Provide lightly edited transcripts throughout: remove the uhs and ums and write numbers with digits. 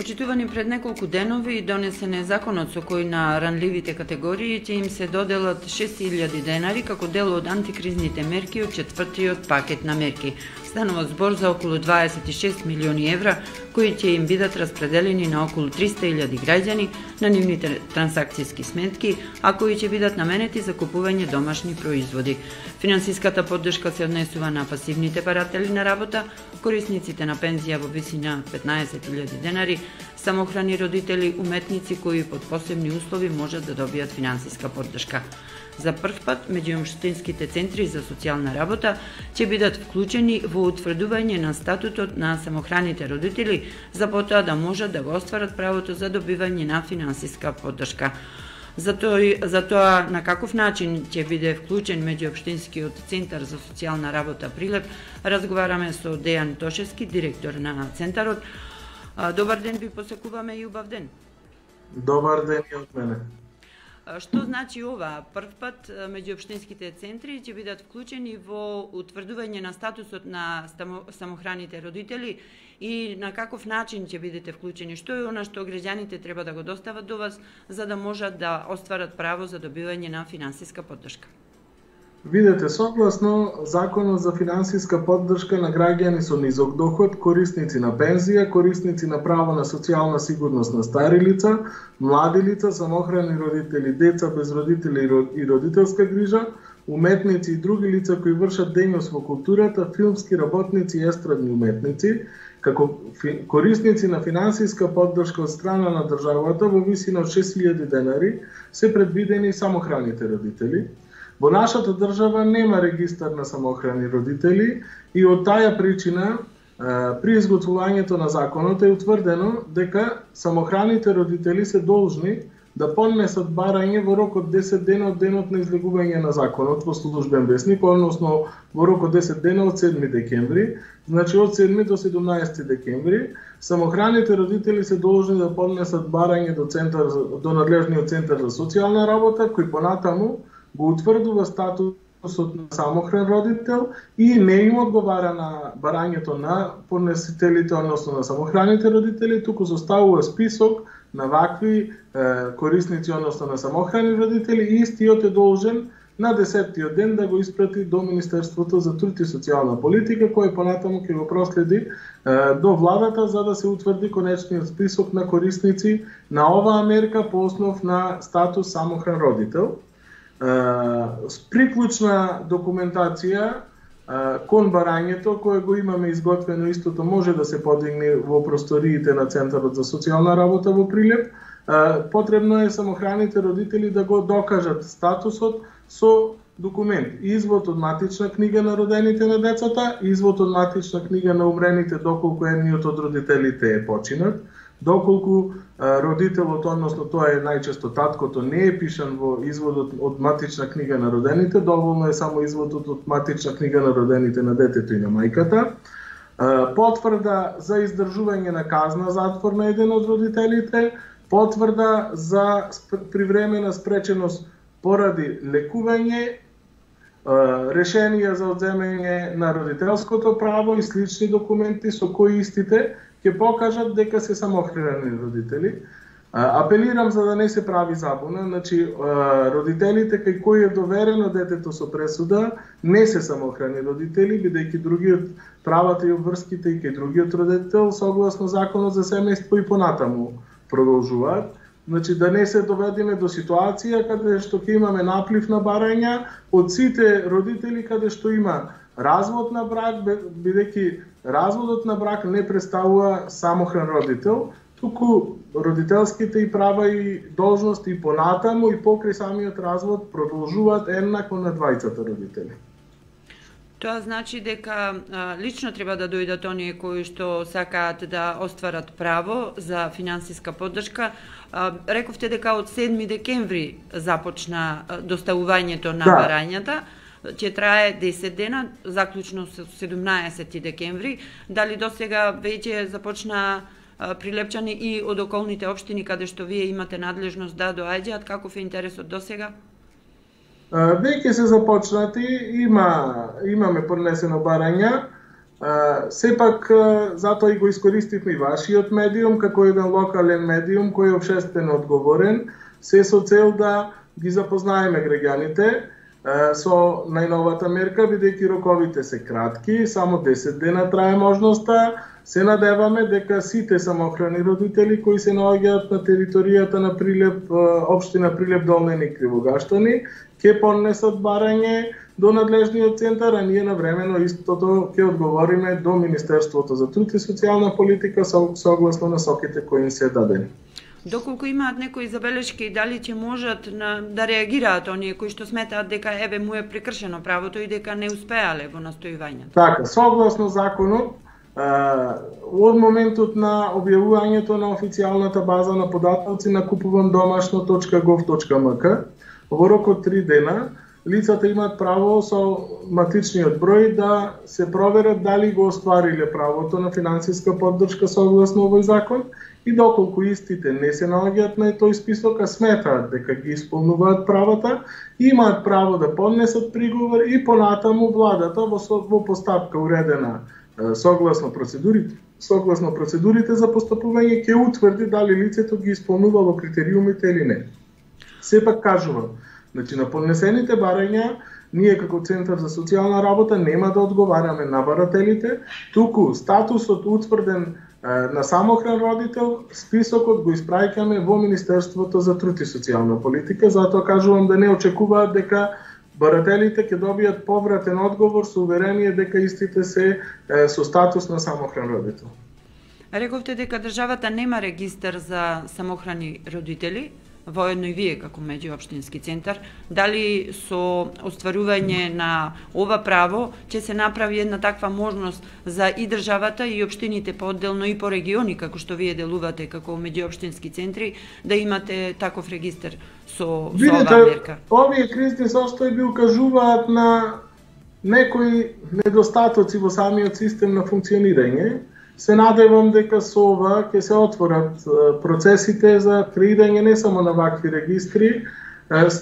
Почитувани, пред неколку денови донесен е законот со кој на ранливите категории ќе им се доделат 6000 денари како дел од антикризните мерки од четвртиот пакет на мерки. Станува збор за околу 26 милиони евра кои ќе им бидат распределени на околу 300.000 граѓани на нивните трансакцијски сметки, а кои ќе бидат наменети за купување домашни производи. Финансиската поддршка се однесува на пасивните баратели на работа, корисниците на пензија во висина 15.000 денари, самохрани родители, уметници кои под посебни услови можат да добијат финансиска поддршка. За прв пат, меѓуопштинските центри за социјална работа ќе бидат вклучени во утврдување на статутот на самохраните родители, за потоа да можат да го остварат правото за добивање на финансиска поддршка. За тоа на каков начин ќе биде вклучен меѓуопштинскиот центар за социјална работа Прилеп, разговараме со Дејан Тошевски, директор на центарот. Добар ден, ви посакуваме и убав ден. Добар ден и од мене. Што значи ова? Прв пат меѓуопштинските центри ќе бидат вклучени во утврдување на статусот на самохраните родители и на каков начин ќе бидете вклучени? Што е она што граѓаните треба да го достават до вас за да можат да остварат право за добивање на финансиска поддршка? Видете, согласно Законот за финансиска поддршка на граѓани со низок доход, корисници на пензија, корисници на право на социјална сигурност на стари лица, млади лица, самохрани родители, деца без родители и родителска грижа, уметници и други лица кои вршат дејност во културата, филмски работници и естрадни уметници, како корисници на финансиска поддршка од страна на државата во висина од 6000 денари, се предвидени самохраните родители. Во нашата држава нема регистар на самохрани родители и од таа причина при изготвувањето на законот е утврдено дека самохраните родители се должни да поднесат барање во рок од 10 дена од денот на излегување на законот во Службен весник, односно во рок од 10 дена од 7 декември, значи од 7 до 17 декември, самохраните родители се должни да поднесат барање до надлежниот центар за социјална работа, кој понатаму го утврдува статусот на самохран родител и не им одговара на барањето на поднесителите, односно на самохраните родители, туку составува список на вакви корисници, односно на самохрани родители, и истиот е должен на 10-тиот ден да го испрати до Министерството за труд и социјална политика, кој понатаму ќе го проследи до владата за да се утврди конечниот список на корисници на оваа мерка по основ на статус самохран родител. Приклучна документација кон барањето, кое го имаме изготвено, истото може да се подигне во просториите на Центарот за социјална работа во Прилеп. Потребно е самохраните родители да го докажат статусот со документ: извод од матична книга на родените на децата, извод од матична книга на умрените доколку едниот од родителите е починат, доколку родителот, односно тоа е најчесто таткото, не е пишан во изводот од матична книга на родените, доволно е само изводот од матична книга на родените на детето и на мајката, потврда за издржување на казна затвор на еден од родителите, потврда за привремена спреченост поради лекување, решение за одземање на родителското право и слични документи со кои истите ќе покажат дека се самохрани родители. Апелирам за да не се прави забуна, значи родителите кај кои е доверено детето со пресуда не се самохрани родители, бидејќи другиот правата и обврските и кај другиот родител согласно Законот за семејство и понатаму продолжуваат. Значи да не се доведеме до ситуација каде што ќе имаме наплив на барања од сите родители каде што има развод на брак, бидејќи разводот на брак не представува самохран родител, туку родителските и права и должности и понатаму и покрај самиот развод продолжуваат еднакво на двајцата родители. Тоа значи дека лично треба да дојдат оние кои што сакаат да остварат право за финансиска поддршка. Рековте дека од 7 декември започна доставувањето на барањата. Ќе трае 10 дена, заклучно со 17 декември. Дали досега веќе започна прилепчани и од околните општини каде што вие имате надлежност да доаѓаат? Каков е интересот досега? Веќе се започнати, имаме поднесено барања. Сепак, затоа и го искористивме и вашиот медиум, како еден локален медиум кој е општествено одговорен, се со цел да ги запознаеме граѓаните со најновата мерка, бидејќи роковите се кратки, само 10 дена трае можноста. Се надеваме дека сите самохрани родители кои се наоѓаат на територијата на Прилеп, општина Прилеп Долнени и Кривогаштани, ќе поднесат барање до надлежниот центар, а ние навремено истото ќе одговориме до Министерството за труд и социјална политика согласно насоките кои им се дадени. Доколку имаат некои забелешки, дали ќе можат да реагираат оние кои што сметаат дека еве му е прекршено правото и дека не успеале во настојувањето? Така, согласно законот, од моментот на објавувањето на официјалната база на податоци на kupuvamdomašno.gov.mk, во рок од 3 дена, лицата имаат право со матичниот број да се проверат дали го оствариле правото на финансиска поддршка согласно овој закон и доколку истите не се наоѓаат на тој список, а сметаат дека ги исполнуваат правата, имаат право да поднесат приговор и понатаму владата во постапка уредена согласно процедурите за постапување ќе утврди дали лицето ги исполнувало критериумите или не. Сепак кажувам, значи на поднесените барања ние како Центар за социјална работа нема да одговараме на барателите, туку статусот утврден на самохран родител, списокот го испраќаме во Министерството за труд и социјална политика, затоа кажувам да не очекуваат дека барателите ќе добијат повратен одговор со уверение дека истите се со статус на самохран родител. Рековте дека државата нема регистар за самохрани родители, воедно и вие како меѓуопштински центар, дали со остварување на ова право ќе се направи една таква можност за и државата и општините поодделно и по региони, како што вие делувате како меѓуопштински центри, да имате таков регистар со оваа мерка? Овие кризни состојби укажуваат на некои недостатоци во самиот систем на функционирање. Се надевам дека со ова ќе се отворат процесите за креирање не само на вакви регистри,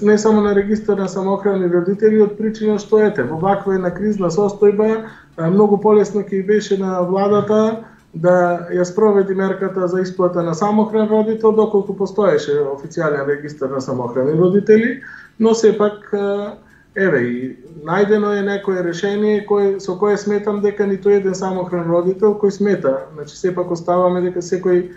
не само на регистар на самохрани родители, од причина што во ваква една кризна состојба многу полесно ќе беше на владата да ја спроведи мерката за исплата на самохран родител, доколку постоеше официјален регистар на самохрани родители, но сепак и најдено е некое решение со кое сметам дека ниту еден самохран родител кој смета, значи сепак оставаме дека секој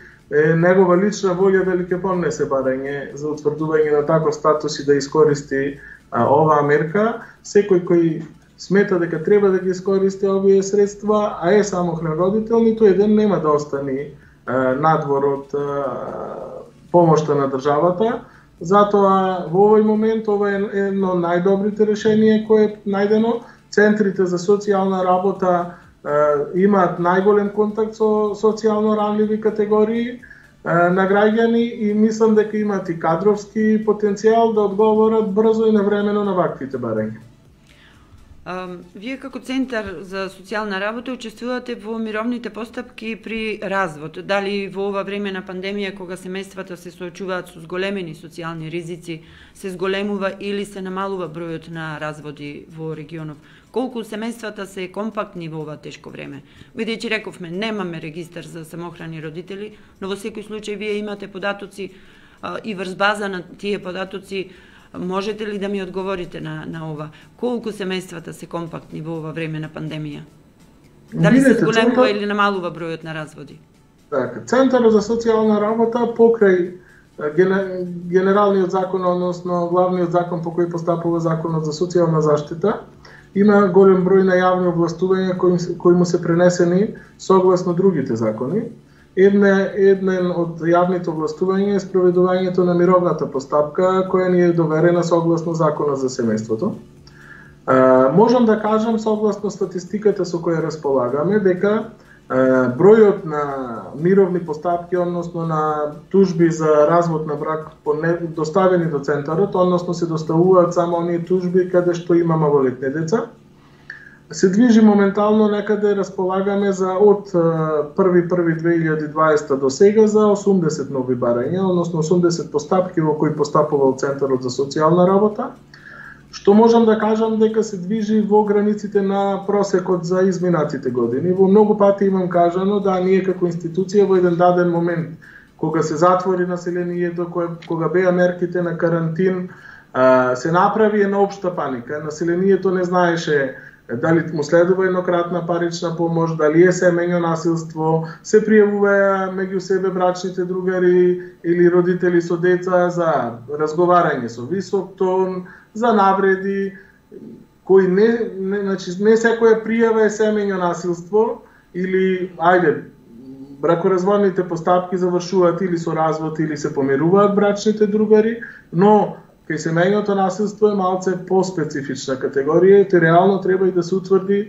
негова лична волја дали ќе поднесе барање за утврдување на таков статус и да искористи оваа мерка, секој кој смета дека треба да ги искористи овие средства, а е самохран родител, ниту еден нема да остани надвор од помошта на државата. Затоа во овој момент ова е едно од најдобрите решение кое е најдено. Центрите за социјална работа имаат најголем контакт со социјално ранливи категории на граѓани и мислам дека имаат и кадровски потенцијал да одговорат брзо и навремено на ваквите барања. Вие како Центар за социјална работа учествувате во мировните постапки при развод. Дали во ова време на пандемија, кога семејствата се соочуваат со зголемени социјални ризици, се зголемува или се намалува бројот на разводи во регионов? Колку семејствата се компактни во ова тешко време? Бидејќи рековме, немаме регистар за самохрани родители, но во секој случај вие имате податоци и врз база на тие податоци. Можете ли да ми одговорите на ова? Колку семејствата се компактни во ова време на пандемија? Дали се зголемува или намалува бројот на разводи? Така, Центарот за социјална работа покрај генералниот закон, односно главниот закон по кој постапува законот за социјална заштита, има голем број на јавни овластувања кои му се пренесени согласно другите закони. Еден од јавните овластувања е спроведувањето на мировната постапка, која ни е доверена согласно законот за семејството. Можам да кажам, согласно статистиката со која располагаме, дека бројот на мировни постапки, односно на тужби за развод на брак доставени до Центарот, односно се доставуваат само оние тужби каде што има малолетни деца, се движи моментално некаде, располагаме за од 1.1.2020 до сега за 80 нови барања, односно 80 постапки во кои постапувал Центарот за социјална работа, што можам да кажам дека се движи во границите на просекот за изминатите години. Во многу пати имам кажано да ние како институција во еден даден момент, кога се затвори населението, кога беа мерките на карантин, се направи една општа паника. Населението не знаеше дали му следува еднократна парична помош, дали е семејно насилство, се пријавуваја меѓу себе брачните другари или родители со деца за разговарање со висок тон, за навреди, кои не секоја пријава е семејно насилство или, бракоразводните постапки завршуваат или со развод или се помируваат брачните другари, но кај семејното насилство е малце по-специфична категорија, те реално треба и да се утврди,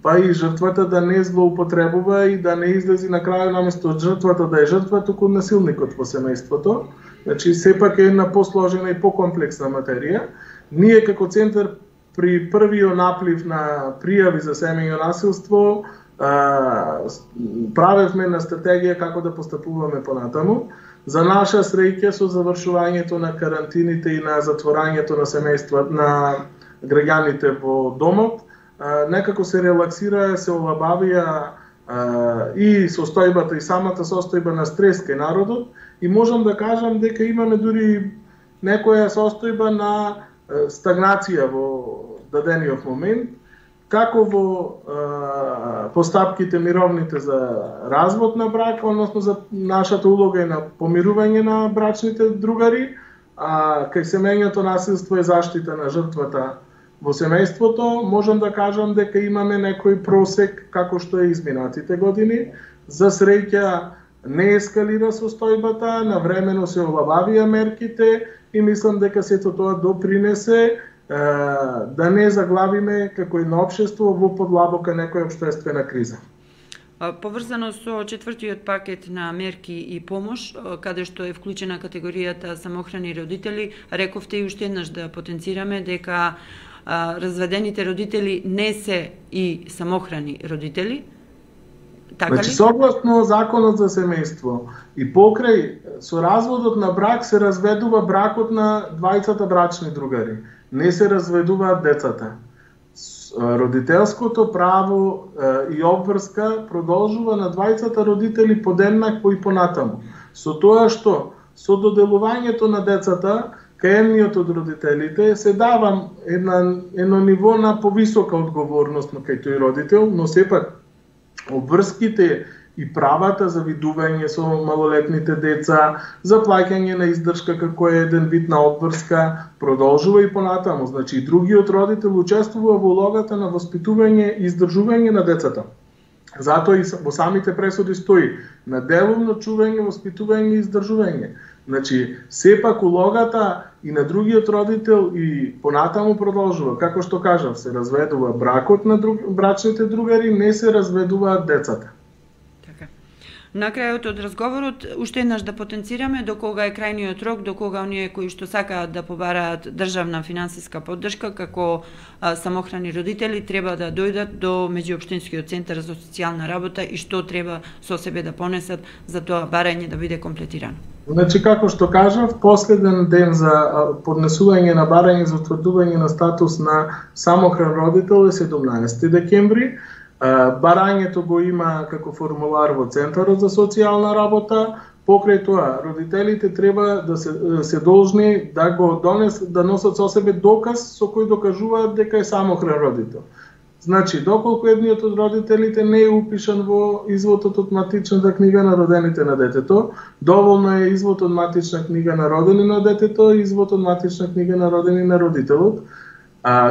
па и жртвата да не злоупотребува и да не излези на крај наместо од жртвата да е жртва, туку насилникот во семејството. Значи, сепак е една посложена и покомплексна материја. Ние како центар при првиот наплив на пријави за семејно насилство правевме на стратегија како да постапуваме понатаму. За наша среќа со завршувањето на карантините и на затворањето на семејства на граѓаните во домот, некако се релаксира, се олабавија и состојбата и самата состојба на стрес кај народот и можам да кажам дека имаме дури некоја состојба на стагнација во дадениот момент, како во постапките мировните за развод на брак, односно за нашата улога е на помирување на брачните другари, а кај семејното насилство е заштита на жртвата во семејството, можам да кажам дека имаме некој просек како што е изминатите години. За среќа не ескалира состојбата, навремено се олабавија мерките и мислам дека сето тоа допринесе да не заглавиме како едно општество во подлабока некоја општествена криза. Поврзано со четвртиот пакет на мерки и помош, каде што е вклучена категоријата самохрани родители, рековте и уште еднаш да потенцираме дека разведените родители не се и самохрани родители. Така Значи, ли? согласно Законот за семејство и покрај со разводот на брак се разведува бракот на двајцата брачни другари. Не се разведуваат децата. Родителското право и обврска продолжува на двајцата родители подеднакво и понатаму. Со тоа што со доделувањето на децата кај едниот од родителите се дава едно ниво на повисока одговорност на кај тој родител, но сепак обврските и правата за видување со малолетните деца, за плаќање на издршка како е еден вид на обврска, продолжува и понатаму. Значи, и другиот родител учествува во улогата на воспитување и издржување на децата. Затоа и во самите пресуди стои на деловно чување, воспитување и издржување. Значи, сепак улогата и на другиот родител и понатаму продолжува. Како што кажав, се разведува бракот на брачните другари, не се разведуваат децата. На крајот од разговорот, уште еднаш да потенцираме до кога е крајниот рок, до кога оние кои што сакаат да побараат државна финансиска поддршка како самохрани родители треба да дојдат до меѓуопштинскиот центар за социјална работа и што треба со себе да понесат за тоа барање да биде комплетирано. Значи, како што кажав, последен ден за поднесување на барање за утврдување на статус на самохран родител е 17 декември. Барањето го има како формулар во Центарот за социјална работа. Покрај тоа, родителите треба да се должни да го да носат со себе доказ со кој докажуваат дека е самохран родител. Значи, доколку едниот од родителите не е упишан во изводот од матичната книга на родените на детето, доволно е извод од матична книга на родени на детето и извод од матична книга на родени на родителот.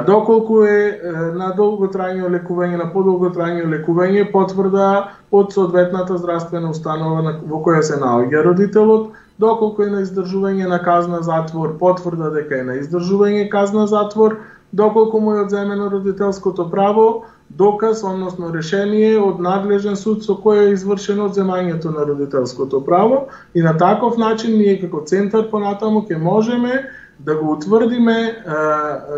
Доколку е на долготрајно лекување, на подолготрајно лекување, потврда од соодветната здравствена установа во која се наоѓа родителот, доколку е на издржување на казна затвор, потврда дека е на издржување казна затвор, доколку му е одземено родителското право, доказ, односно решение од надлежен суд со кој е извршено одземањето на родителското право и на таков начин ние како центар понатаму ќе можеме да го утврдиме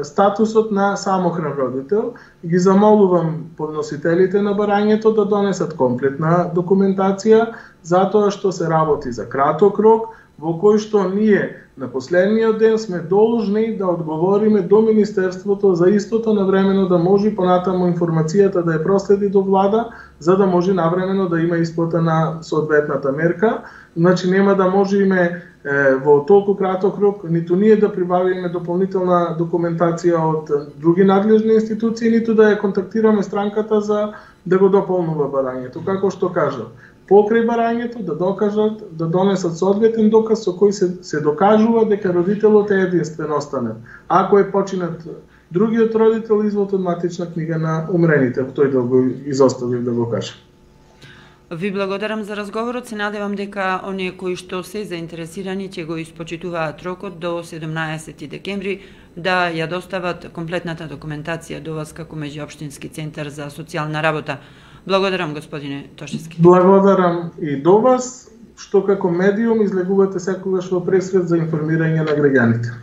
статусот на самохран родител. Ги замолувам подносителите на барањето да донесат комплетна документација, затоа што се работи за краток рок, во кој што ние на последниот ден сме должни да одговориме до Министерството за истото навремено да може понатаму информацијата да ја проследи до влада, за да може навремено да има исплата на соодветната мерка. Значи нема да можеме во толку краток рок ниту ние да прибавиме дополнителна документација од други надлежни институции, ниту да ја контактираме странката за да го дополнува барањето. Како што кажав, покрај барањето да докажат, да донесат соодветен доказ со кој се докажува дека родителот е единствен останет. Ако е починат другиот родител, извод од матична книга на умрените, тој да го изостави, да го каже. Ви благодарам за разговорот, се надевам дека оние кои што се заинтересирани ќе го испочитуваат рокот до 17 декември да ја достават комплетната документација до вас како меѓуопштински центар за социјална работа. Благодарам, господине Тошевски. Благодарам и до вас, што како медиум излегувате секогаш во пресвет за информирање на граѓаните.